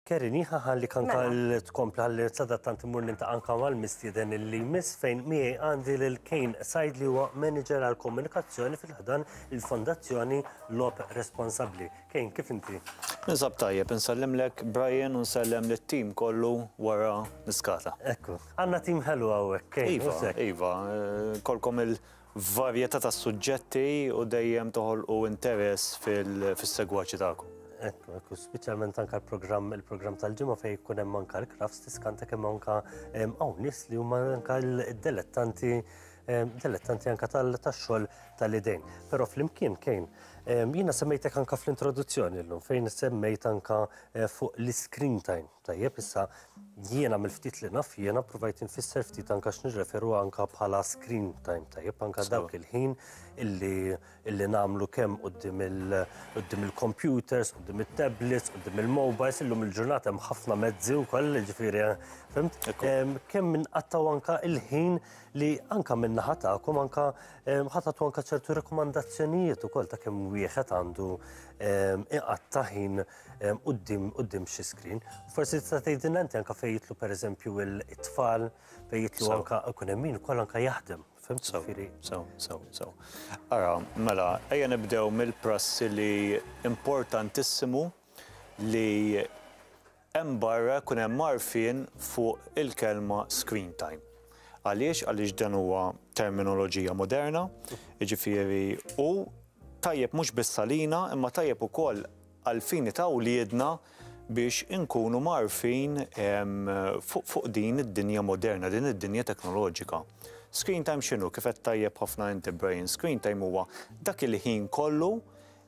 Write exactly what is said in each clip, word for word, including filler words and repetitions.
Kerin, ħalli anka Mela. Tkompli ħalli sadattant immur niltaqa' anka mal-mistieden li jmiss, fejn miegħi għandi lil Kane Said, li huwa manager għal komunikazzjoni fil-ħdan il-Fondazzjoni Logħob Responsabbli. Kane, kif inti? Ninsab tajjeb, nsellimlek, Brian, u nsellem lit-tim kollu wara niskata. Ekku, għandna tim ħelu hawnhekk, Kane. Iva, U sekk. Iva, eh, kolkom il-varjetà ta' suġġetti u dejjem toħolqu interess fil- fis-segwaċi tagħkom. Ekku, ekku, speċjalment anka l-programm il-programm tal-ġimgħa fejn jkun hemm anka l-crafts, tiskanta kemm anka em, hawn nies li huma anka l-dilettanti em, dilettanti anka tal- tax-xogħol tal-idejn. Però flimkien, Kane, em, jiena semmejtek anka fl-introduzzjoni llum, fejn semmejt anka eh, fuq l-screen time. Tajjeb, issa jiena mill-ftit li naf jiena provajt infisser ftit anka x'nirreferu anka bħala screen time. Tajjeb, anka dawk il-ħin illi illi nagħmlu kemm quddiem il quddiem il-computers, quddiem it-tablets, quddiem il-mobiles, illum il-ġurnata hemm ħafna mezzi wkoll, ġifieri, fhimt? Em, Kemm inqattaw anka il-ħin li anka min-naħa tagħkom anka em, ħa tagħtu anka ċertu rekomandazzjonijiet ukoll ta' kemm wieħed għandu em, iqatta' ħin em, quddiem quddiem xi screen. Forsi tista' tgħidilna inti anka fejn jidħlu, pereżempju, il-tfal, fejn jidħlu Sew. anka ikun hemm min ukoll anka jaħdem. Fhimt? So, Ġifieri- so, so, so. Ara, mela, ejja nibdew mill-prassi li importantissimu li hemm barra kun hemm għarfien fuq il-kelma screen time. Għaliex? Għaliex dan huwa terminoloġija moderna, jiġifieri, u tajjeb mhux biss għalina, imma tajjeb ukoll għall-fini ta' wliedna biex inkunu mgħarrfin em, fuq fuq din id-dinja moderna, din id-dinja teknoloġika. Screen time x'inhu? Kif qed tajjeb ħafna inti, Brian, screen time huwa dak il-ħin kollu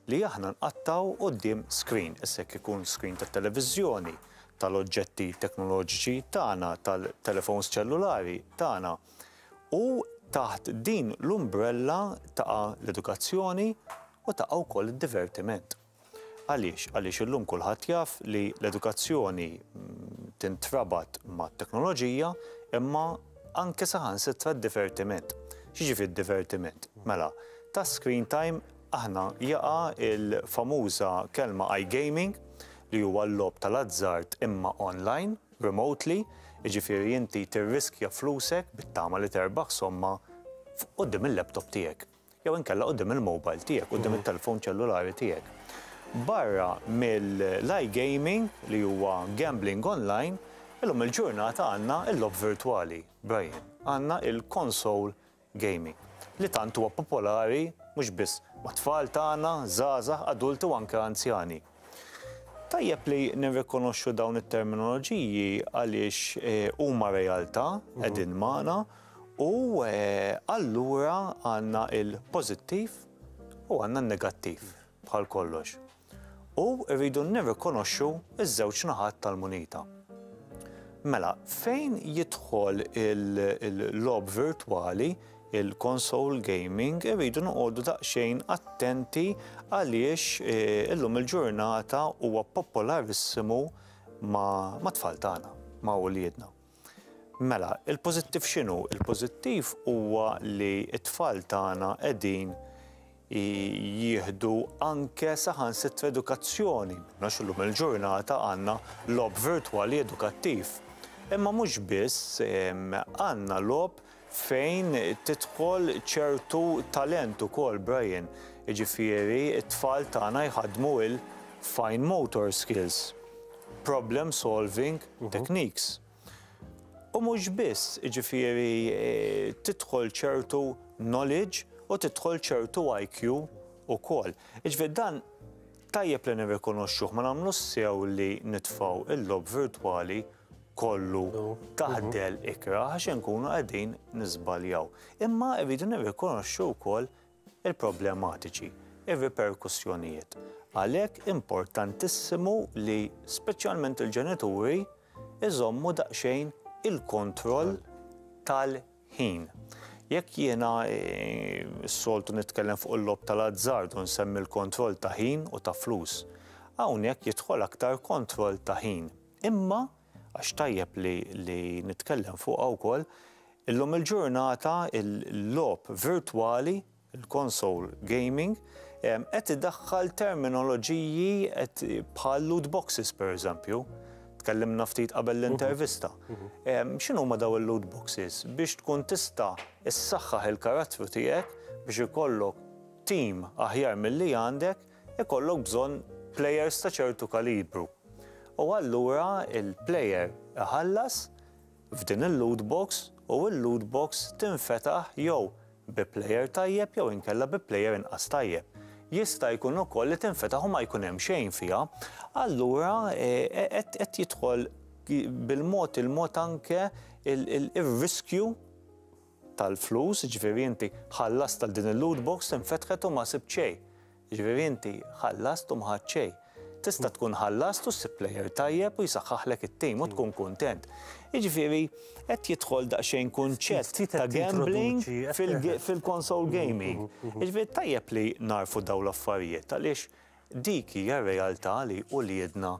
li aħna nqattaw quddiem screen. Issa jekk ikun screen tat-televiżjoni, tal-oġġetti teknoloġiċi tagħna, tal-telefons ċellulari tagħna. U taħt din l-umbrella taqa' l-edukazzjoni u taqa' wkoll id-divertiment. Għaliex? Għaliex illum kulħadd jaf li l-edukazzjoni mm, tintrabat mat-teknoloġija, imma anke saħansitra d-divertiment. X'jiġifieri d-divertiment? Mela, ta' screen time aħna jaqa' il-famuża kelma iGaming, li huwa l-logħob tal-azzard imma online, remotely, jiġifieri inti tirriskja flusek bit-tama li terbaħ somma quddiem il-laptop tiegħek jew inkella quddiem il-mobile tiegħek, quddiem it-telefon ċellulari tiegħek. Barra mill-iGaming, li huwa gambling online, illum il-ġurnata għandna il-logħob virtuali, Brian. Għandna il-console gaming li tant huwa popolari mhux biss mat-tfal tagħna, żgħażagħ, adulti u anke anzjani. Tajjeb li nirrikonoxxu dawn it-terminoloġiji għaliex eh, huma realtà qegħdin magħna u eh, allura għandna il-pożittiv u għandna n-negattiv bħal kollox. U rridu nirrikonoxxu iż-żewġ naħat tal-munita. Mela, fejn jidħol il-logħob virtuali, il-console gaming, irridu noqogħdu daqsxejn attenti għaliex eh, illum il-ġurnata huwa popolarissimu ma', ma tfal tagħna, ma' uliedna. Mela, il-pożittiv x'inhu? Il-pożittiv huwa li t-tfal tagħna qegħdin jieħdu anke saħansitra edukazzjoni. Għax illum il-ġurnata għandna logħob virtuali edukattiv. Imma mhux biss, għandna logħob fejn tidħol ċertu talent ukoll, Brian. Jiġifieri, it-tfal tagħna jħadmu il-fine motor skills, problem solving techniques. U mhux biss, jiġifieri, eh, tidħol ċertu knowledge u tidħol ċertu I Q ukoll. Jiġifieri dan tajjeb li nirrikonoxxuh, ma nagħmlu sew li nitfgħu il-logħob virtuali kollu taħt dell ikrah, għax nkunu qegħdin niżbaljaw. Imma rridu nirrikonoxxu wkoll il-problematiċi, ir-riperkussjonijiet. Għalhekk importantissimu li speċjalment il-ġenituri iżommu daqsxejn il-kontroll tal-ħin. Jekk jiena eh, s-soltu nitkellem fuq il-logħob tal-azzard u nsemmi l-kontroll ta' ħin u ta' flus, hawnhekk jidħol aktar kontroll ta' ħin. Imma għax tajjeb li, li nitkellem fuq wkoll, illum il-ġurnata il-logħob virtuali, il-console gaming, qed idaħħal terminoloġiji qed bħal loot boxes, per eżempju. Tkellimna ftit qabel l-intervista. X'inhuma daw il-loot boxes? Biex tkun tista' issaħħaħ il-karattru tiegħek biex ikollok team aħjar milli għandek, ikollok bżonn players ta' ċertu kalibru. U allura il-player iħallas f'din il-loot box u il-loot box tinfetaħ jew bi player tajjeb jew inkella bi player inqas tajjeb. Jista' jkun ukoll li tinfetaħ u ma jkun hemm xejn fiha. Allura qed jidħol bil-mod il-mod anke il-riskju tal-flus, ġifieri inti ħallast tal din il-loot box tinfetħet u ma sibt xejn. Ġifieri inti ħallast u ma ħadt xejn. Tista' tkun ħallast u ssib player tajjeb u jisaħħaħlek it-tim u tkun kuntent. Jiġifieri qed jidħol daqsxejn kunċett ta' gambling fil-console gaming. Jiġifieri tajjeb li narfu dawn l-affarijiet għaliex dik hija r-realtà li uliedna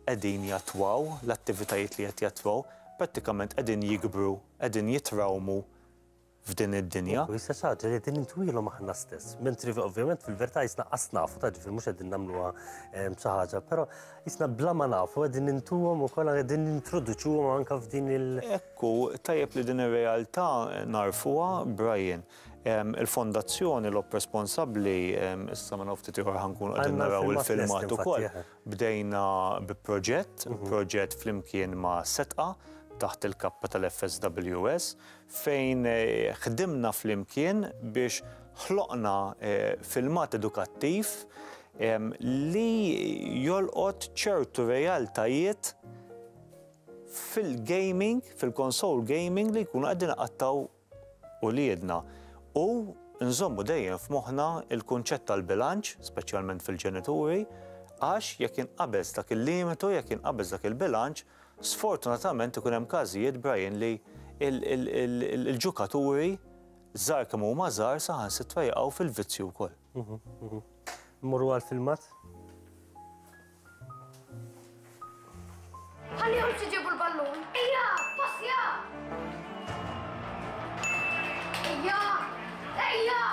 qegħdin jatwaw, l-attivitajiet li qed jatwaw, prattikament qegħdin jikbru, qegħdin jitrawmu f'din id-dinja. U jista' xi ħaġa li qegħdin intwilhom aħna stess. Mentri ovvjament fil-verità jisna qas nafu, ta' ġifieri mhux qegħdin nagħmluha xi ħaġa, però jisna bla ma nafu qegħdin intuhom ukoll qegħdin nintroduċuhom anke f'din il- Ekku, tajjeb li din ir-realtà narfuha, Brian. Il-fondazzjoni Logħob Responsabbli, issa ma naftit ieħor ħankun qegħdin naraw il-filmat ukoll. Bdejna bi proġett, proġett flimkien ma' Setqa taħt il-kappa tal-F S W S, fejn ħdimna flimkien biex ħloqna filmat edukattiv li jolqot ċertu realtajiet fil-gaming, fil-console gaming li jkunu qegħdin iqattgħu uliedna. U nżommu dejjem f'moħħna il-kunċett tal-bilanċ, speċjalment fil-ġenituri, għax jekk inqabeż dak il-limitu, jekk inqabeż dak il-bilanċ, sfortunatament ikun hemm każijiet, Brian, li il-ġukaturi żgħar kemm huma żgħar saħansitra jaqgħu fil-vizzju wkoll. Mmorru għall-filmat? Ħallihom ġibu l-ballun. Ejja, passja! Ejja! Ejja!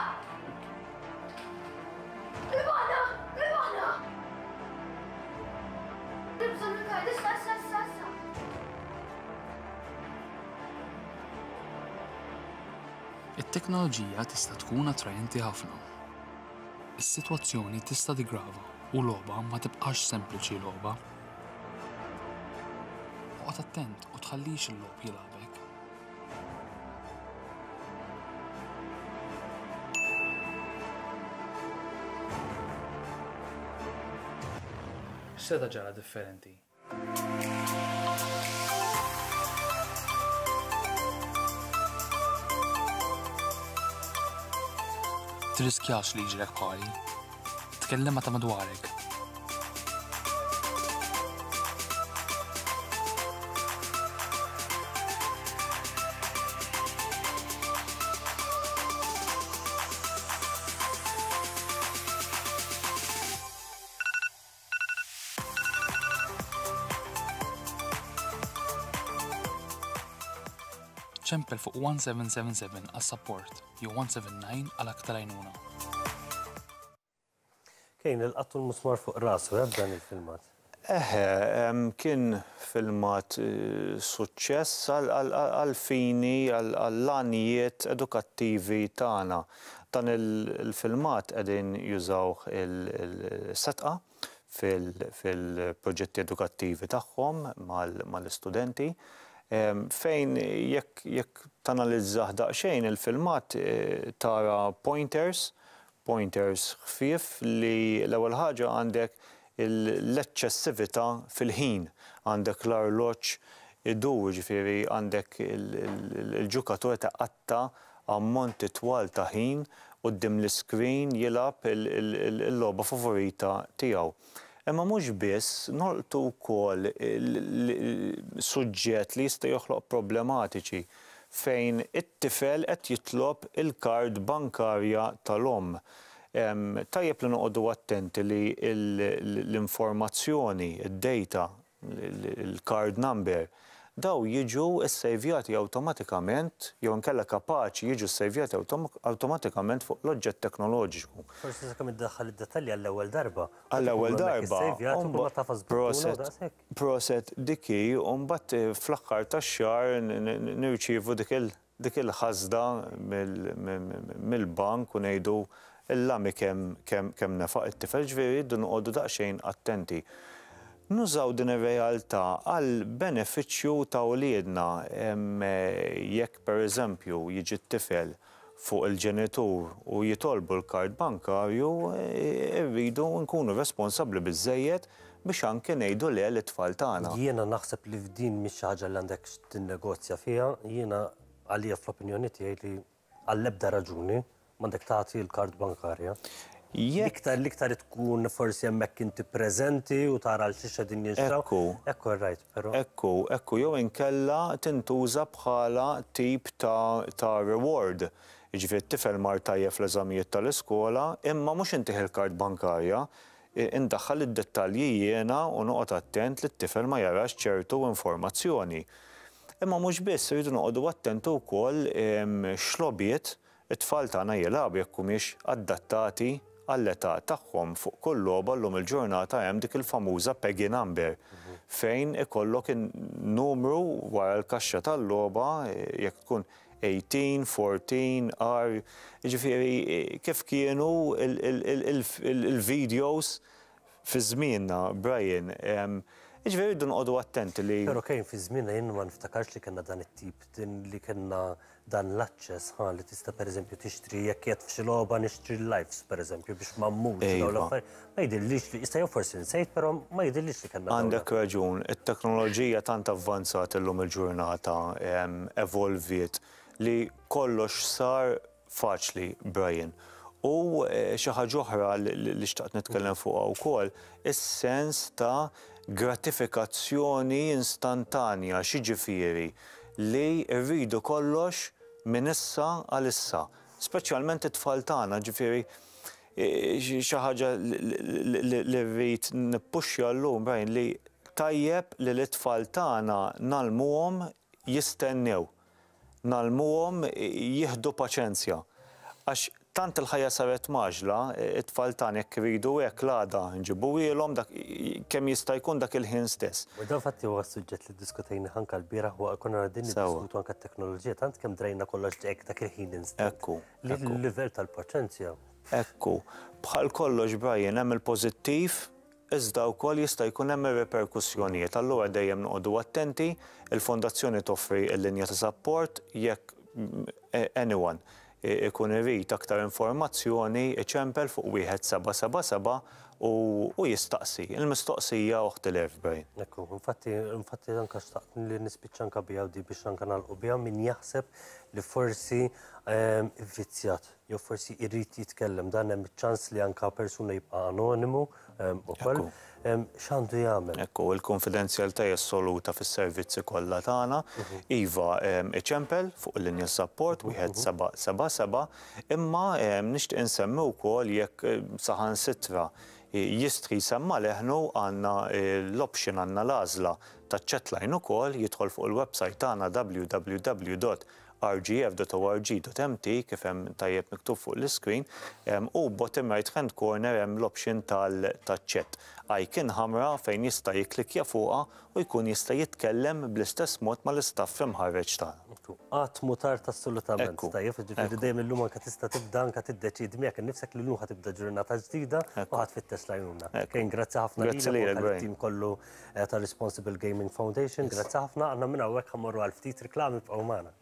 Ribana! Ribana! Nibżon il-kard, issa, issa, issa, issa. It-teknoloġija tista' tkun attrajenti ħafna. Is-sitwazzjoni tista' tigrava u logħba ma tibqax sempliċi logħba. Oqgħod attent u tħallix il-logħob jilgħabek. X'seta' ġara differenti? Tirriskjax li jiġrek bħali. Tkellem ma' ta' madwarek. Ċempel fuq one seven seven seven għas-support jew one seven nine għal aktar għajnuna. Kejn il-qattu l-musmar fuq rasu, eh, b'dan il-filmat? Eħe, em, kien filmat, eh, suċċess għal-fini, għall-għanijiet edukattivi tagħna. Dan il-filmat qegħdin jużawh il-Setqa fil-proġetti edukattivi tagħhom mal-istudenti. Em, fejn jekk, jekk tanalizzah daqsxejn il-filmat, eh, tara pointers, pointers ħfief li l-ewwel ħaġa għandek l-eċċessività fil-ħin, għandek l-arloġġ idur, ġifieri għandek il-ġukatur ta' qatta ammonti twal ta' ħin quddiem l-iskrin jilgħab il-logħba favorita tiegħu. Imma mhux biss, nolqtu wkoll suġġett li jista' joħloq problematiċi fejn it-tifel qed jitlob il-kard bankarja tal-omm. Em, tajjeb li noqogħdu attenti li l-informazzjoni, id-data, il-card number, Dawn jiġu ssejvjati awtomatikament, jew inkella kapaċi jiġu ssejvjati awtomatikament fuq l-oġġett teknoloġiku. Forsi sakemm iddaħħal id-dettalji għall-ewwel darba. Għall-ewwel darba. Proset, proset diki, u mbagħad fl-aħħar tax-xahar nirċievu dik il- dik il-ħasda mill-bank u ngħidu illami kemm kemm nefaq it-tifel. Ġifieri rridu noqogħdu daqsxejn attenti. Nużaw din ir-realtà għal benefiċċju ta' uliedna. Jekk, pereżempju, jiġi t-tifel fuq il-ġenitur u jitolbu l-kard bankarju, irridu nkunu responsabbli biżejjed biex anke ngħidu le lit-tfal tagħna. Jiena naħseb li f'din mhix xi ħaġa li għandek tinnegozja fiha. Jiena għalija, fl-opinjoni tiegħi, li għall-ebda raġuni m'għandek tagħti l-kard bankarja. L-iktar l-iktar tkun forsi hemmhekk inti preżenti u tara l xiex din jinxtraw. Ekku. Ekku, right, però. Ekku, ekku, jew inkella tintuża bħala tip ta', ta reward. Jiġifieri t-tifel mar tajjeb fl-eżamijiet tal-iskola, imma mhux intih il-kard bankarja, indaħħal id-dettalji jiena u noqgħod attent li t-tifel ma jarax ċertu informazzjoni. Imma mhux biss, rridu noqogħdu attenti wkoll x'logħbiet it-tfal tagħna jilagħbu, jekk humiex adattati għall-età tagħhom. Fuq kull logħba llum il-ġurnata hemm dik il-famuża PEGI number, fejn ikollok numru wara l-kaxxa tal-logħba, jekk tkun tmintax, erbatax, R, jiġifieri kif kienu il-videos fi żmienna, Brian. Jiġifieri rridu noqogħdu attenti li. Però kien fi żmienna jien ma niftakarx li kellna dan it-tip, din li kellna dan l-aċċess ħa li tista' pereżempju tixtri, jekk qed f'xi logħba, nixtri lives, pereżempju, biex ma mmutx dawn l-affarijiet. Ma jidhirlix li jista' jew forsi nsejt, però ma jidhirlix li kellna. Għandek raġun, it-teknoloġija tant avvanzat illum il-ġurnata, evolviet, li kollox sar faċli, Brian. U xi ħaġa oħra li xtaqt nitkellem fuqha wkoll, is-sens ta' gratifikazzjoni instantanja, xiġifieri li rridu kollox minn issa għal issa. Speċjalment it-tfal tagħna, ġifieri xi ħaġa li rrid nippuxja llum, Brian, li tajjeb li l-tfal tagħna ngħallmuhom jistennew, ngħallmuhom jieħdu paċenzja. Għax tant il-ħajja saret mgħaġġla, it-tfal tagħna jekk iridu hekk l-għada nġibuhielhom, dak kemm jista' jkun dak il-ħin stess. U dan fatti huwa suġġett li ddiskutejna anke l-bieraħ u konna din niddiskutu anke t-teknoloġija, tant kemm drajna kollox hekk dak il-ħin instant. Ekku. Li l-livell tal-paċenzja. Ekku. Bħal kollox, Brian, hemm il-pożittiv, iżda wkoll jista' jkun hemm ir-reperkussjonijiet. Allura dejjem noqogħdu attenti. Il-fondazzjoni toffri l-linja ta' support jekk anyone ikun irid aktar informazzjoni, iċempel fuq wieħed seba' seba' seba' u jistaqsi. Il-mistoqsija oħt l-għerf, Brian. Ekku, infatti, infatti anka xtaqt li nispiċċa anka biha di biex anka nagħlqu biha: min jaħseb li forsi vizzjat jew forsi irrid jitkellem, dan hemm ċans li anka persuna jibqa' anonimu ukoll. X'għandu jagħmel? Ekku, il-konfidenzjalità hija assoluta fis-servizzi kollha tagħna. Iva, iċempel fuq il-linja support wieħed seba' seba' seba', imma nixtieq insemmi wkoll jekk saħansitra jistħi jsemma' leħnu, għandna l-option, għandna l-għażla ta' chatline ukoll, jidħol fuq il-website tagħna W W W dot R G F dot org dot M T kif hemm tajjeb miktub fuq l-screen, u bottom right hand corner hemm l-option tal-chat. Icon ħamra fejn jista' jiklikja fuqha u jkun jista' jitkellem bl-istess mod mal-istaff imħarreġ tagħna. Qatt mhu tard assolutament. Tajjeb, ġifieri dejjem illum anke tista' tibda anke tiddeċidi miegħek innifsek li llum ħa tibda ġurnata ġdida u ħa tfittex l-għajnuna. Kien grazzi ħafna lilek, tim kollu ta' Responsible Gaming Foundation, grazzi ħafna. Għandna minn hawnhekk ħa mmorru għal ftit reklami, bqgħu magħna.